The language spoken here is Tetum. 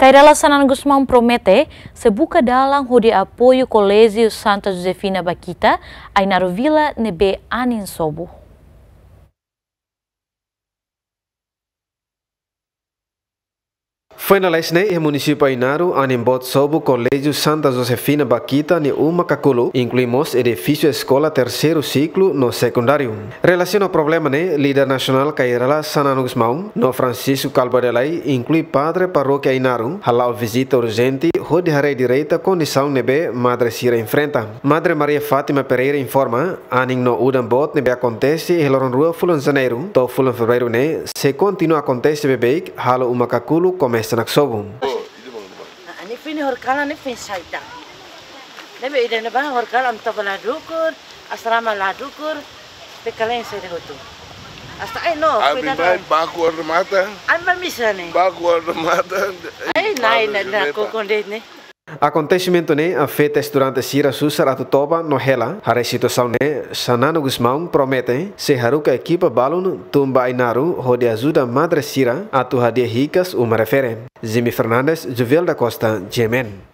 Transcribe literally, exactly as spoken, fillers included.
Kay Rala Xanana Gusmão promete sei buka dalan hodi apoiu Koléjiu Santa Josefina Bakhita, Ainaro Vila ne'ebé anin sobu. Foin lalais ne'e iha munisípiu Ainaro, anin boot sobu Koléjiu Santa Josefina Bakhita nia uma kakulu, inklui mós edifísiu eskola terseiru siklu no sekundáriu. Relasiona ho problema ne'e, líder nasionál Kay Rala Xanana Gusmão no Francisco Kalba Delai, inklui padre parókia Ainaro, hala'o vizita urjente hodi haree direta kondisaun ne'ebé madre sira enfrenta. Madre Maria Fátima Pereira informa, anin no udan boot ne'ebé akontese iha loron rua fulan Janeiru to'o fulan Fevereiru ne'e sei kontinua akontese beibeik, halo uma kakulu komesa naksobu. Ah, ne'e fini horikalan ne'e fini saida. Ne'ebé ida-ne'ebá horikalan ami tau ba la dukur, asrama la dukur, pekalen saida hotu. Hasta ai no, ami kuida mai kan. Baku hormata. Ami ba misa ne'e. Baku hormata. Ai, nai, na, na, kokon de'it ne'e. Akontesimentu ne'e afeta estudante sira susar atu toba no hela. Haree situasaun ne'e, Xanana Gusmão promete sei haruka ekipa balun tun ba Ainaro hodi ajuda madre sira atu hadi'a hikas uma refere. Jimmy Fernandes, Juvel da Costa, G M N.